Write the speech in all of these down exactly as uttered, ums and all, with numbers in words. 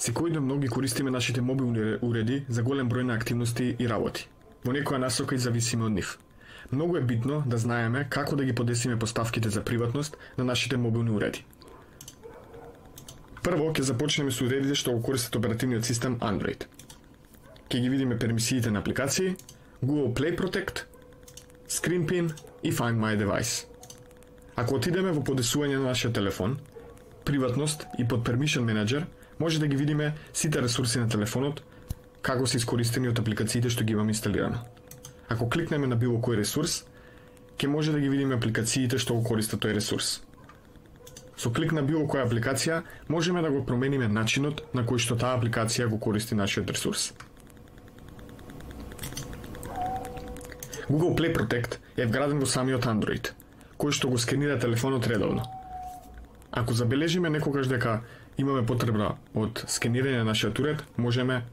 Секојдневно многу користиме нашите мобилни уреди за голем број на активности и работи. Во некоја насока и зависиме од нив. Многу е битно да знаеме како да ги подесиме поставките за приватност на нашите мобилни уреди. Прво ќе започнеме со уредите што го користат оперативниот систем Android. Ќе ги видиме пермисиите на апликации, Google Play Protect, Screen Pin и Find My Device. Ако отидеме во подесување на нашиот телефон, приватност и под Permission Manager, може да ги видиме сите ресурси на телефонот, како се искористени од апликациите што ги имаме инсталирано. Ако кликнеме на било кој ресурс, ќе може да ги видиме апликациите што го користат тој ресурс. Со клик на било која апликација, можеме да го промениме начинот на кој што таа апликација го користи нашиот ресурс. Google Play Protect е вграден во самиот Android, кој што го сканира телефонот редовно. Ако забележиме некогаш дека имаме потреба од сканирање на нашиот уред, можеме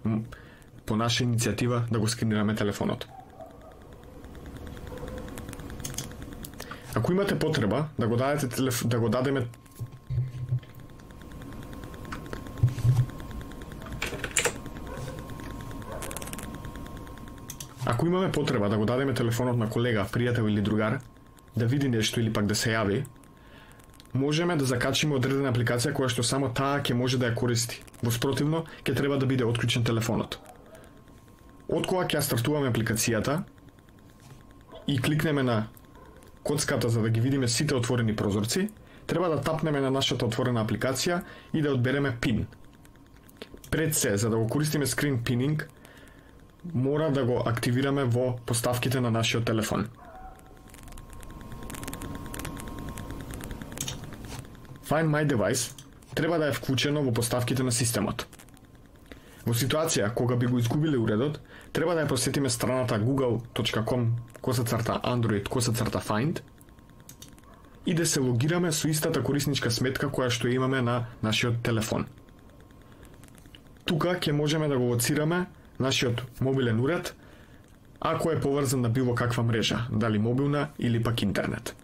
по наша иницијатива да го сканираме телефонот. Ако имате потреба да го дадете телеф... да го дадеме Ако имаме потреба да го дадеме телефонот на колега, пријател или другар, да види нешто или пак да се јави, можеме да закачиме одредена апликација која што само таа ќе може да ја користи. Во спротивно, ќе треба да биде отклучен телефонот. Откога ќе стартуваме апликацијата и кликнеме на коцката за да ги видиме сите отворени прозорци, треба да тапнеме на нашата отворена апликација и да одбереме пин. Пред се, за да го користиме Screen Pinning, мора да го активираме во поставките на нашиот телефон. Find My Device треба да е вклучено во поставките на системот. Во ситуација кога би го изгубиле уредот, треба да ја посетиме страната google точка com косацрта android косацрта find и да се логираме со истата корисничка сметка која што имаме на нашиот телефон. Тука ќе можеме да го лоцираме нашиот мобилен уред ако е поврзан на било каква мрежа, дали мобилна или пак интернет.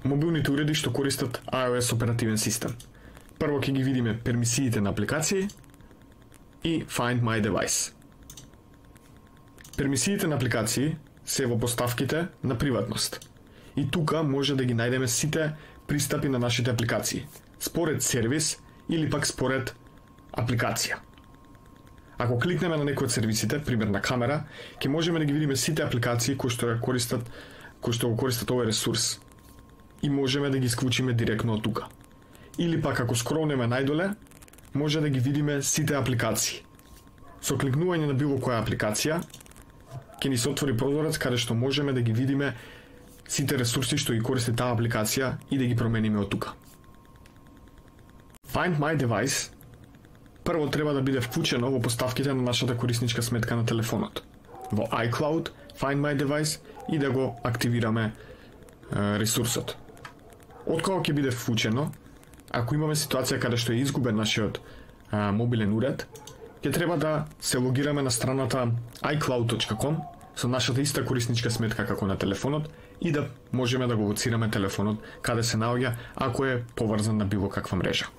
Мобилните уреди што користат iOS оперативен систем. Прво ќе ги видиме пермисиите на апликации и Find My Device. Пермисиите на апликации се во поставките на приватност. И тука може да ги најдеме сите пристапи на нашите апликации, според сервис или пак според апликација. Ако кликнеме на некој од сервисите, пример на камера, ќе можеме да ги видиме сите апликации кои што користат, кои што го користат овој ресурс и можеме да ги исклучиме директно од тука. Или пак ако скролнеме најдоле, може да ги видиме сите апликации. Со кликнување на било која апликација, ќе ни се отвори прозорец каде што можеме да ги видиме сите ресурси што ги користи таа апликација и да ги промениме од тука. Find My Device прво треба да биде вклучено во поставките на нашата корисничка сметка на телефонот, во iCloud, Find My Device и да го активираме е, ресурсот. Откога ќе биде вклучено, ако имаме ситуација каде што е изгубен нашиот а, мобилен уред, ќе треба да се логираме на страната i cloud точка com со нашата иста корисничка сметка како на телефонот и да можеме да го лоцираме телефонот каде се наоѓа ако е поврзан на било каква мрежа.